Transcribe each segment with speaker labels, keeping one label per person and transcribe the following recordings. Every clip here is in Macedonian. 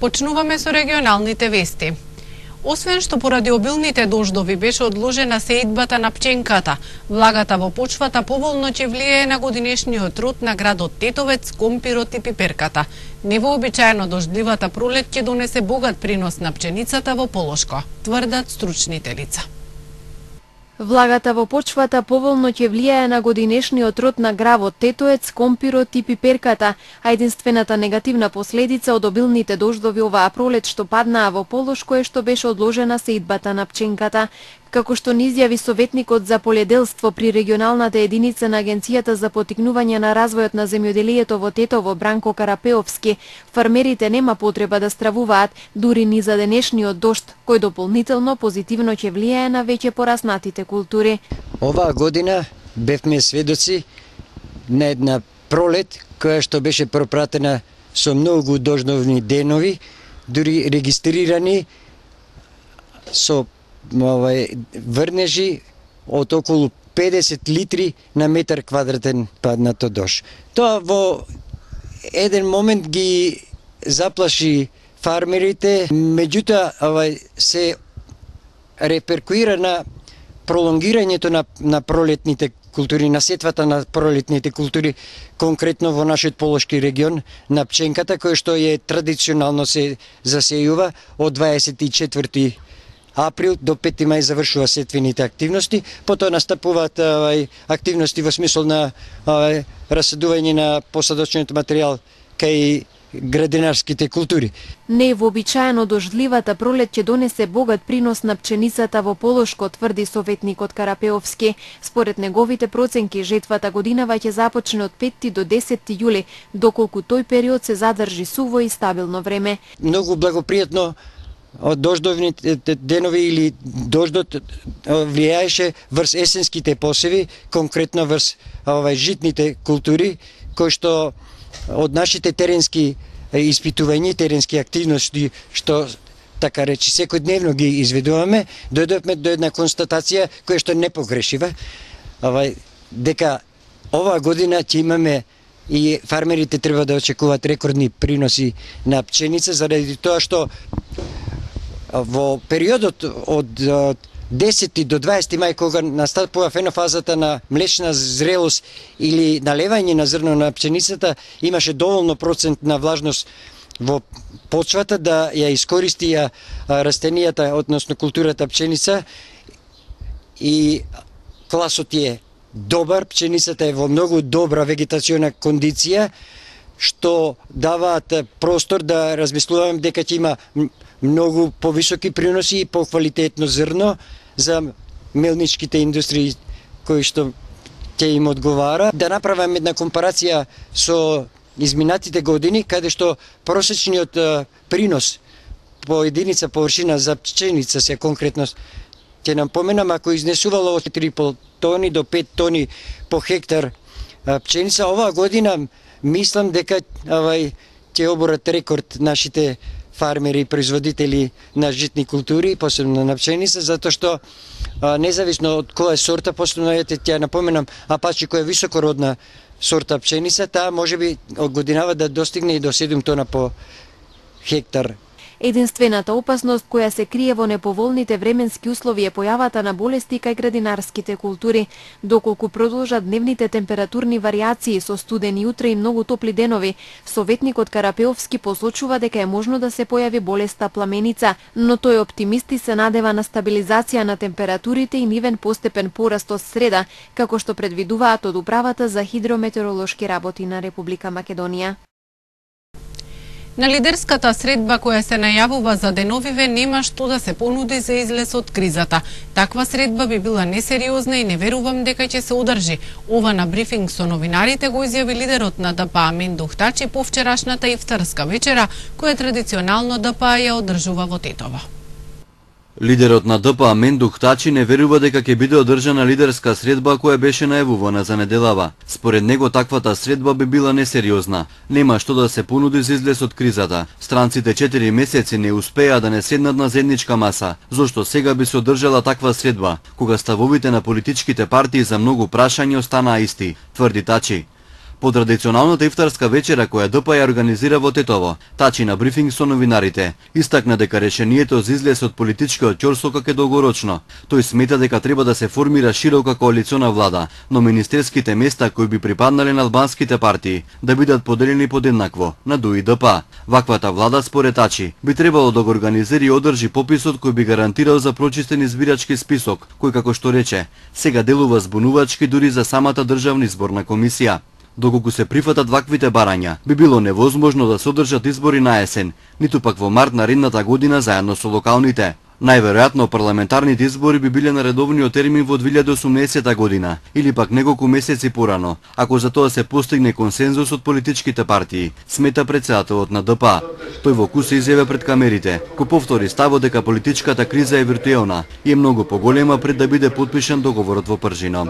Speaker 1: Почнуваме со регионалните вести. Освен што поради обилните дождови беше одложена сеидбата на пченката, влагата во почвата поволно ќе влијае на годинешниот труд на градот Тетовец, компирот и пиперката. Невообичаено дождливата пролет ќе донесе богат принос на пченицата во Полошко, тврдат стручните лица.
Speaker 2: Влагата во почвата поволно ќе влијае на годинешниот род на гравот Тетоец, компирот и пиперката, а единствената негативна последица од обилните дождови оваа пролет што паднаа во Полошко е што беше одложена сеидбата на пченката. Како што ни изјави советникот за поледелство при регионалната единица на Агенцијата за поттикнување на развојот на земјоделието во Тетово, Бранко Карапеовски, фармерите нема потреба да стравуваат дури ни за денешниот дожд, кој дополнително позитивно ќе влијае на веќе пораснатите култури.
Speaker 3: Оваа година бевме сведоци на една пролет која што беше пропратена со многу дождовни денови, дури регистрирани со врнежи од околу 50 литри на метар квадратен паднато дожд. Тоа во еден момент ги заплаши фармерите, меѓутоа се реперкуира на пролонгирањето на пролетните култури, на сетвата на пролетните култури, конкретно во нашиот Полошки регион, на пченката, која што е традиционално се засејува од 24 април до 5 мај завршува сетвените активности, потоа настапуваат активности во смисол на расадување на посадочниот материјал кај градинарските култури.
Speaker 2: Невообичаено дождливата пролет ќе донесе богат принос на пченицата во Полошко, тврди советникот Карапеовски. Според неговите проценки, жетвата годинава ќе започне од 5 до 10 јули, доколку тој период се задржи суво и стабилно време.
Speaker 3: Многу благопријатно од дождовните денови или дождот влијаеше врз есенските посеви, конкретно врз житните култури, кои што од нашите теренски испитувања, теренски активности, што така речи секојдневно ги изведуваме, дојдовме до една констатација која што не погрешива, дека оваа година ќе имаме и фармерите треба да очекуваат рекордни приноси на пченица, заради тоа што во периодот од 10 до 20 мај, кога настапува фенофазата на млечна зрелост или налевање на зрно на пченицата, имаше доволно процент на влажност во почвата да ја искористи растенијата, односно културата пченица, и класот е добар, пченицата е во многу добра вегетациона кондиција, што даваат простор да размислуваме дека ќе има многу повисоки приноси и поквалитетно зрно за мелничките индустрии кои што ќе им одговара. Да направам една компарација со изминатите години, каде што просечниот принос по единица површина за пченица се конкретно ќе нам поменам, ако изнесувало од 4,5 тони до 5 тони по хектар пченица, оваа година мислам дека ќе оборат рекорд нашите фармери и производители на житни култури, посебно на пченица, затоа што независно од која сорта, посебно ќе напоменам Апачи, која е високородна сорта пченица, таа можеби од годинава да достигне и до 7 тона по хектар.
Speaker 2: Единствената опасност која се крие во неповолните временски услови е појавата на болести кај градинарските култури. Доколку продолжат дневните температурни варијации со студени утре и многу топли денови, советникот Карапеовски посочува дека е можно да се појави болеста пламеница, но тој оптимисти се надева на стабилизација на температурите и нивен постепен пораст од среда, како што предвидуваат од Управата за хидрометеоролошки работи на Република Македонија.
Speaker 1: На лидерската средба која се најавува за деновиве нема што да се понуди за излез од кризата. Таква средба би била несериозна и не верувам дека ќе се одржи. Ова на брифинг со новинарите го изјави лидерот на ДПА Амен Духтачи по вчерашната ифтарска вечера, која традиционално ДПА ја одржува во Тетово.
Speaker 4: Лидерот на ДПА Амен Духтачи не верува дека ќе биде одржана лидерска средба која беше најавувана за неделава. Според него таквата средба би била несериозна. Нема што да се понуди за излез од кризата. Странците 4 месеци не успеа да не седнат на заедничка маса. Зошто сега би се одржала таква средба, кога ставовите на политичките партии за многу прашања останаа исти, тврди Тачи. по традиционалната ифтарска вечера која ДП ја организира во Тетово. Тачи на брифинг со новинарите истакна дека решението за излез од политичкиот ќорсокак е долгорочно. Тој смета дека треба да се формира широка коалициона влада, но министерските места кои би припаднале на албанските партии да бидат поделени подеднакво на ДУ и ДП. Ваквата влада според Тачи би требало да го организира и одржи пописот кој би гарантирал за прочистен избирачки список, кој како што рече, сега делува збунувачки дури за самата државна изборна комисија. Доколку се прифатат ваквите барања, би било невозможно да се одржат избори на есен, ниту пак во март наредната година заедно со локалните. Најверојатно парламентарните избори би биле на редовниот термин во 2018 година или пак неколку месеци порано, ако за тоа се постигне консензус од политичките партии, смета претседателот на ДП. Тој во куса изјаве пред камерите, кој повтори ставот дека политичката криза е виртуелна и е многу поголема пред да биде потпишан договорот во Пржино.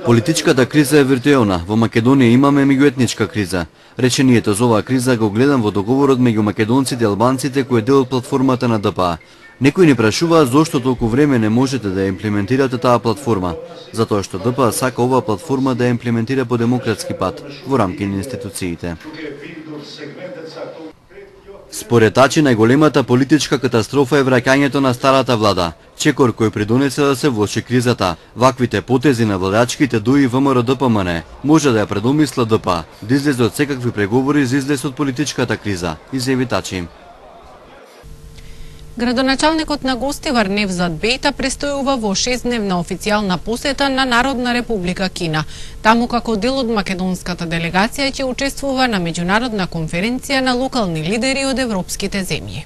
Speaker 4: Политичката криза е виртуелна. Во Македонија имаме меѓуетничка криза. Речението за оваа криза го гледам во договорот меѓу македонците и албанците кој е дел од платформата на ДП. Некои ни прашуваа зошто толку време не можете да ја имплементирате таа платформа. Затоа што ДП сака оваа платформа да ја имплементира по демократски пат во рамки на институциите. Според Тачи, најголемата политичка катастрофа е враќањето на старата влада, чекор кој придонесе да се влоши кризата. Ваквите потези на владачките ДУ и ВМРО-ДПМН може да ја предомисла ДП, да излезе од секакви преговори за излез од политичката криза, изјави Тачи.
Speaker 1: Градоначалникот на Гостивар Невзат Бејта престојува во 6-дневна официјална посета на Народна република Кина. Таму како дел од македонската делегација ќе учествува на меѓународна конференција на локални лидери од европските земји.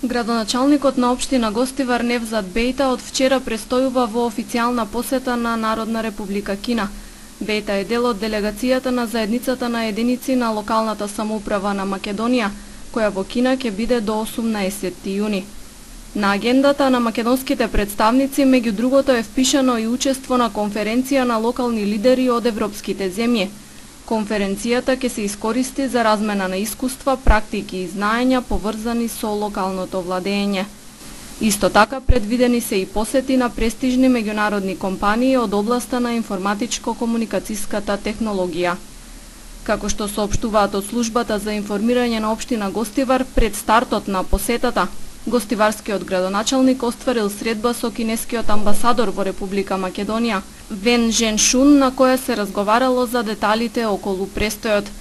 Speaker 5: Градоначалникот на општина Гостивар Невзат Бејта од вчера престојува во официјална посета на Народна република Кина. Бејта е дел од делегацијата на заедницата на единици на локалната самоуправа на Македонија, која во Кина ќе биде до 18 јуни. На агендата на македонските представници, меѓу другото, е впишано и учество на конференција на локални лидери од европските земји. Конференцијата ќе се искористи за размена на искуства, практики и знаења поврзани со локалното владење. Исто така предвидени се и посети на престижни меѓународни компании од областа на информатичко-комуникацијската технологија. Како што соопштуваат од службата за информирање на општина Гостивар, пред стартот на посетата, гостиварскиот градоначалник остварил средба со кинескиот амбасадор во Република Македонија, Вен Женшун, на која се разговарало за деталите околу престојот.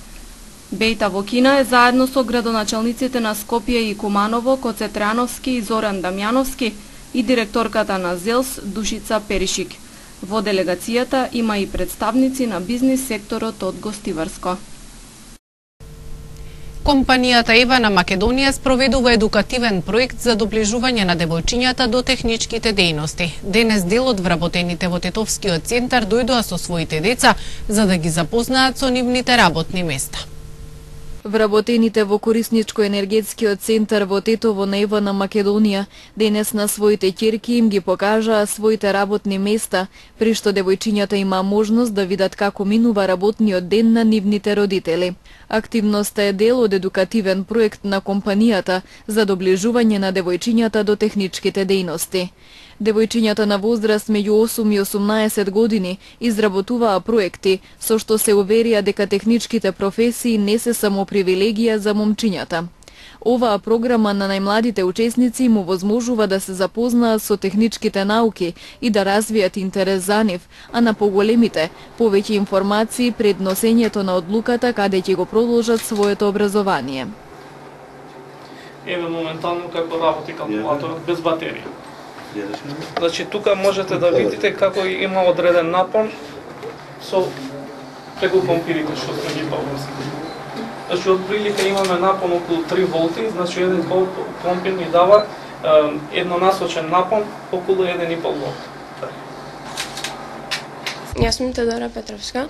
Speaker 5: Бејта во Кина е заедно со градоначалниците на Скопје и Куманово, Коце Трајановски и Зоран Дамјановски и директорката на ЗЕЛС Душица Перишик. Во делегацијата има и представници на бизнис секторот од Гостиварско.
Speaker 1: Компанијата ЕВА на Македонија спроведува едукативен проект за доближување на девојчињата до техничките дејности. Денес дел од вработените во Тетовскиот центар дојдоа со своите деца за да ги запознаат со нивните работни места.
Speaker 2: Вработените во Корисничко-енергетскиот центар во Тетово на ЕВА на Македонија денес на своите ќерки им ги покажаа своите работни места, при што девојчињата има можност да видат како минува работниот ден на нивните родители. Активноста е дел од едукативен проект на компанијата за доближување на девојчињата до техничките дејности. Девојчињата на возраст меѓу 8 и 18 години изработуваа проекти со што се уверија дека техничките професии не се само привилегија за момчињата. Оваа програма на најмладите учесници му возможува да се запознаат со техничките науки и да развијат интерес за нив, а на поголемите повеќе информации пред носењето на одлуката каде ќе го продолжат своето образование.
Speaker 6: Еве моментално како работи калкулаторот без батерија. Значи тука можете да видите како има одреден напон со преку компирите што сме ги поврзали. Значи отприлика имаме напон околу 3 волти, значи еден компир ни дава еднонасочен напон околу 1,5 волт.
Speaker 7: Јас сум Теодора Петровска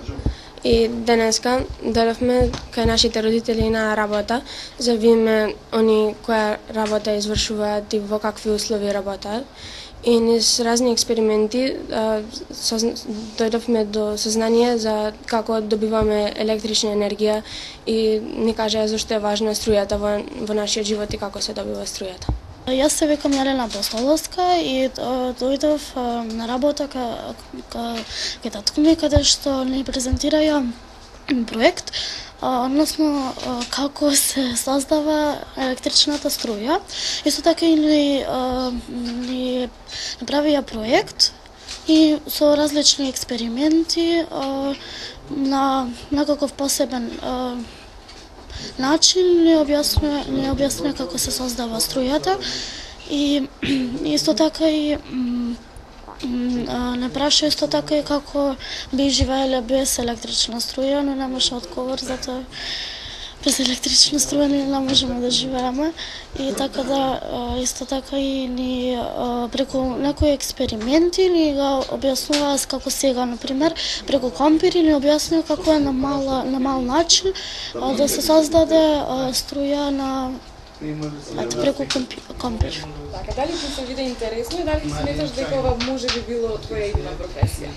Speaker 7: и денеска дојдовме кај нашите родители на работа за видиме они која работа извршуваат и во какви услови работаат. И низ разни експерименти дојдовме до сознание за како добиваме електрична енергија и ни кажаа зашто е важна струјата во нашиот живот и како се добива струјата.
Speaker 8: Јас се викам Јелена Апостоловска и дојдов на работа кај татко ми, каде што ни презентираја проект, односно како се создава електричната струја. Исто така и ни направија проект и со различни експерименти на некаков посебен начин ни објаснува како се создава струјата и исто така и не праша исто така и како би живееле без електрична струја, но немаше одговор, затоа без електрична струја не можеме да живееме и така да исто така и ни преку некои експерименти ни го објаснуваа како сега, например, преку компири ни објаснува како е на мал начин да се создаде струја на преку компир.
Speaker 9: Така, дали ти се виде интересно и дали сметаш дека ова може би било твоја идна професија?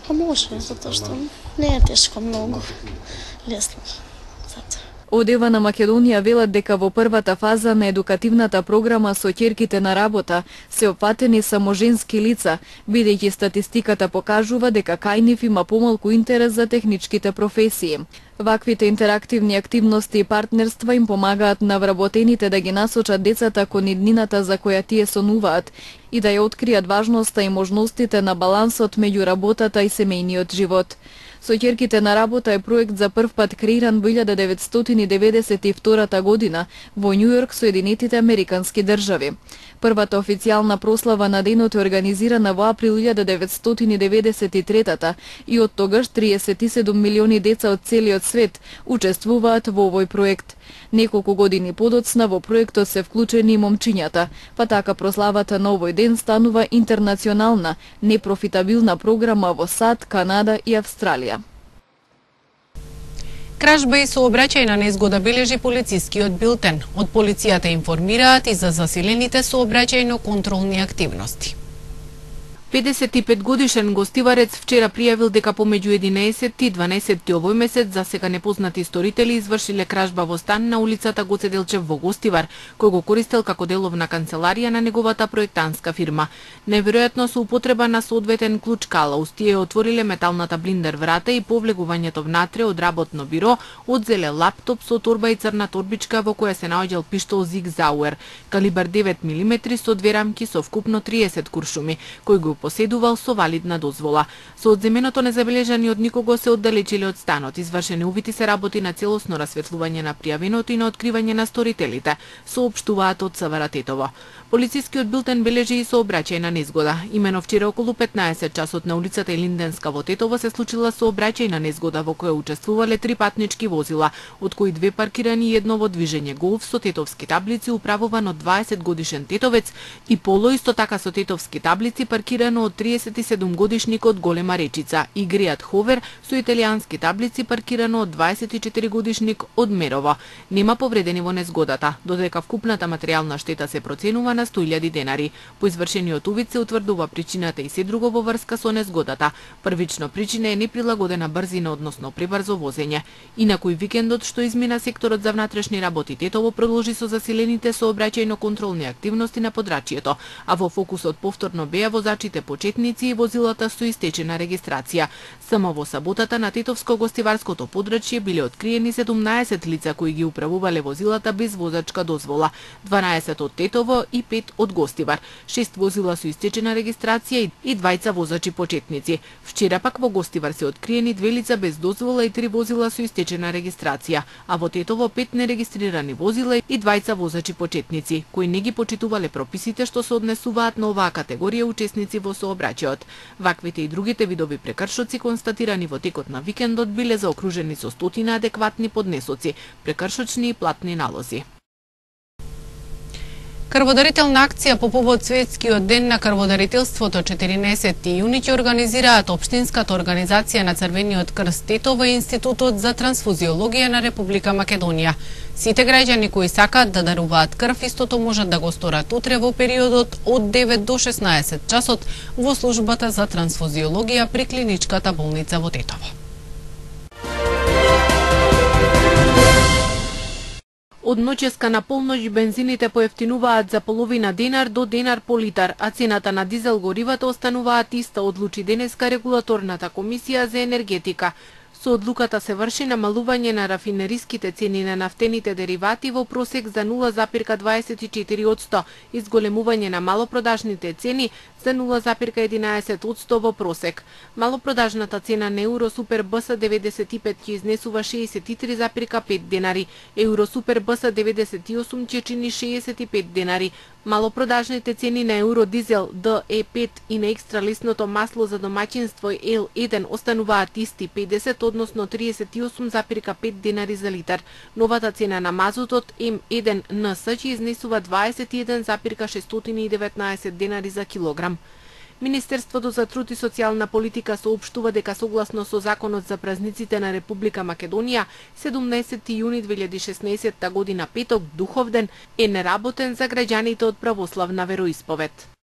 Speaker 8: Па може, затоа што не е тешко многу, лесно.
Speaker 2: Од Ева на Македонија велат дека во првата фаза на едукативната програма со ќерките на работа се опфатени само женски лица, бидејќи статистиката покажува дека кај нив има помалку интерес за техничките професии. Ваквите интерактивни активности и партнерства им помагаат на вработените да ги насочат децата кон иднината за која тие сонуваат и да ја откријат важноста и можностите на балансот меѓу работата и семејниот живот. Со ќерките на работа е проект за прв пат креиран во 1992 година во Њујорк, Соединетите Американски држави. Првата официјална прослава на денот е организирана во април 1993 и од тогаш 37 милиони деца од целиот свет учествуваат во овој проект. Неколку години подоцна во проектот се вклучени и момчињата, па така прославата на овој ден станува интернационална, непрофитабилна програма во САД, Канада и Австралија.
Speaker 1: Кражба и сообраќајна незгода бележи полицискиот билтен. Од полицијата информираат и за засилените сообраќајно-контролни активности.
Speaker 10: 55-годишен гостиварец вчера пријавил дека помеѓу 11 и 12 овој месец за сега непознати сторители извршиле кражба во стан на улицата Гоце Делчев во Гостивар, кој го користел како деловна канцеларија на неговата проектантска фирма. Неверојатно со употреба на соодветен клуч калаус, тие отвориле металната блиндер врата и по влегувањето внатре од работно биро одзеле лаптоп со торба и црна торбичка во која се наоѓал пиштол Зиг Зауер, калибар 9 мм со две рамки со вкупно 30 куршуми, кој го поседувал со валидна дозвола. Со одземеното незабележани од никого се оддалечиле од станот. Извршени увити се работи на целосно расветлување на пријавеното и на откривање на сторителите, соопштуваат од СВР Тетово. Полицискиот билтен бележи и сообраќајна незгода. Имено вчера околу 15 часот на улицата Илинденска во Тетово се случила сообраќајна незгода во која учествувале 3 патнички возила, од кои 2 паркирани и едно во движење Голф со тетовски таблици управуван од 20 годишен тетовец и Поло исто така со тетовски таблици паркирано од 37 годишник од Голема Речица и Гријат Ховер со италијански таблици паркирано од 24 годишник од Мерово. Нема повредени во незгодата, додека вкупната материјална штета се проценува на 100.000 денари. По извршениот увид се утврдува причината и се друго во врска со незгодата. Првично причина е неприлагодена брзина, односно пребрзо возење. Инаку и викендот што измина секторот за внатрешни работи Тетово продолжи со засилените сообраќајно-контролни активности на подрачјето, а во фокусот повторно беа возачите почетници и возилата со истечена регистрација. Само во саботата на Тетовско-гостиварското подрачје биле откриени 17 лица кои ги управувале возилата без возачка дозвола, 12 од Тетово и 5 од Гостивар, 6 возила со истечена регистрација и 2 возачи почетници. Вчера пак во Гостивар се откриени 2 лица без дозвола и 3 возила со истечена регистрација, а во Тетово 5 нерегистрирани возила и 2 возачи почетници, кои не ги почитувале прописите што се однесуваат на оваа категорија учесници во сообраќајот. Ваквите и другите видови прекршоци констатирани во текот на викендот биле заокружени со стотина адекватни поднесоци, прекршочни и платни налози.
Speaker 1: Крводарителна акција по повод Светскиот ден на крводарителството 14 јуни ќе организираат Општинската организација на Црвениот крст Тетово и Институтот за трансфузиологија на Република Македонија. Сите граѓани кои сакаат да даруваат крв истото можат да го сторат утре во периодот од 9 до 16 часот во службата за трансфузиологија при клиничката болница во Тетово.
Speaker 10: Од ноќеска на полноќ бензините поевтинуваат за половина денар до денар по литар, а цената на дизел горивата остануваат иста, одлучи денеска регулаторната комисија за енергетика. Со одлуката се врши намалување на рафинериските цени на нафтените деривати во просек за 0,24%, изголемување на малопродажните цени за 0,11% во просек. Малопродажната цена на Еуро Супер БС 95 ќе изнесува 63,5 денари, Еуро Супер БС 98 ќе чини 65 денари. Малопродажните цени на Еуро Дизел DE5 и на екстра лесното масло за домаќинство L1 остануваат исти 50, односно 38,5 денари за литар. Новата цена на мазутот M1NS ќе изнесува 21,619 денари за килограм. Министерството за труд и социјална политика соопштува дека согласно со Законот за празниците на Република Македонија, 17 јуни 2016 година петок, Духовден, е неработен за граѓаните од православна вероисповед.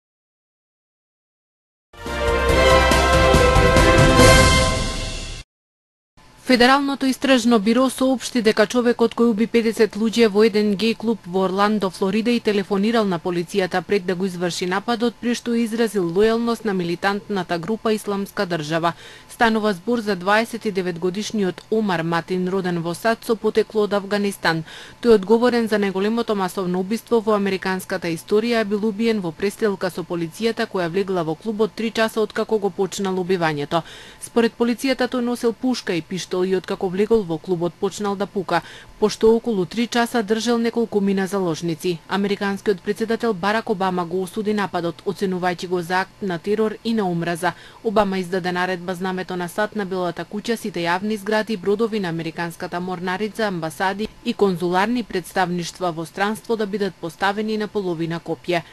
Speaker 10: Федералното истражно биро соопшти дека човекот кој уби 50 луѓе во еден геј клуб во Орландо, Флорида и телефонирал на полицијата пред да го изврши нападот, при што изразил лојалност на милитантната група Исламска држава. Станува збор за 29-годишниот Омар Матин, роден во САД со потекло од Авганистан. Тој одговорен за најголемото масовно убиство во американската историја, бил убиен во престрелка со полицијата која влегла во клубот 3 часа откако го почнало убивањето. Според полицијата тој носел пушка и пиштол и откако влегол во клубот почнал да пука, пошто околу 3 часа држал неколку мина заложници. Американскиот претседател Барак Обама го осуди нападот, оценувајќи го за акт на терор и на омраза. Обама издаде наредба знамето на САД на Белата куќа, сите јавни згради, бродови на американската морнарица, амбасади и конзуларни представништва во странство да бидат поставени на половина копје.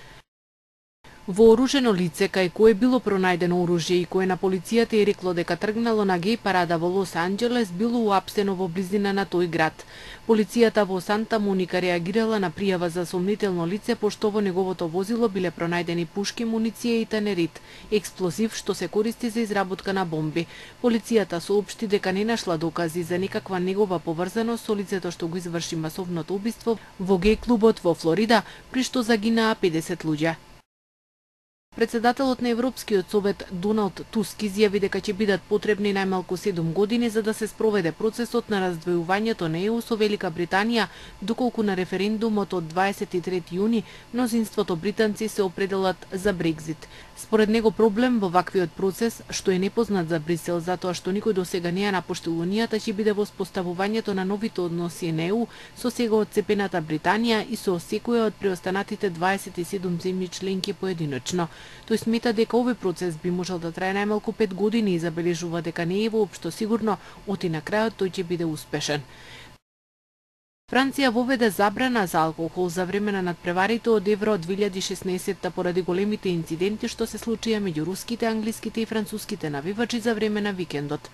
Speaker 10: Вооружено лице кај кое било пронајдено оружје и кое на полицијата е рекло дека тргнало на геј парада во Лос Анџелес, било уапсено во близина на тој град. Полицијата во Санта Моника реагирала на пријава за сомнително лице, пошто во неговото возило биле пронајдени пушки, муниција и танерит, експлозив што се користи за изработка на бомби. Полицијата соопшти дека не нашла докази за никаква негова поврзаност со лицето што го изврши масовното убиство во геј клубот во Флорида, при што загинаа 50 луѓе. Председателот на Европскиот совет Доналд Туск изјави дека ќе бидат потребни најмалку 7 години за да се спроведе процесот на раздвојувањето на ЕУ со Велика Британија, доколку на референдумот од 23 јуни мнозинството британци се определат за Брекзит. Според него проблем во ваквиот процес, што е непознат за Брисел затоа што никој досега не ја напуштил Унијата, ќе биде воспоставувањето на новите односи на ЕУ со сега отцепената Британија и со секоја од преостанатите 27 земји членки поединечно. Тој смета дека овој процес би можел да трае најмалку 5 години и забележува дека не е воопшто сигурно оти на крајот тој ќе биде успешен. Франција воведе забрана за алкохол за време на надпреварите од Евро 2016 поради големите инциденти што се случија меѓу руските, англиските и француските навивачи за време на викендот.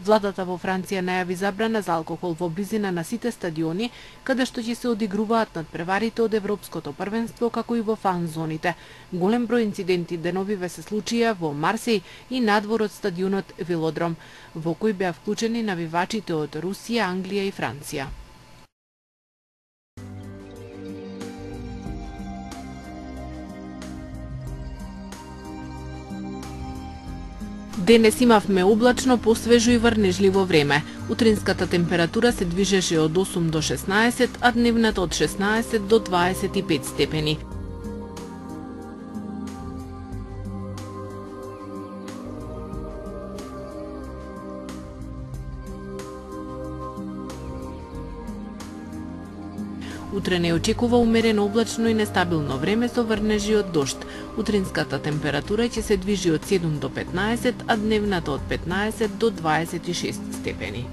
Speaker 10: Владата во Франција најави забрана за алкохол во близина на сите стадиони, каде што ќе се одигруваат надпреварите од Европското првенство, како и во фан зоните. Голем број инциденти деновиве се случија во Марсеј и надвор од стадионот Велодром, во кој беа вклучени навивачите од Русија, Англија и Франција. Денес имавме облачно, посвежо и врнежливо време. Утринската температура се движеше од 8 до 16, а дневната од 16 до 25 степени. Утре не очекува умерено облачно и нестабилно време со врнежи од дожд. Утринската температура ќе се движи од 7 до 15, а дневната од 15 до 26 степени.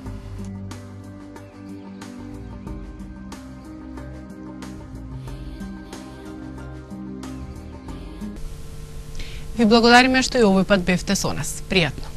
Speaker 1: Ви благодариме што и овој пат бевте со нас. Пријатно.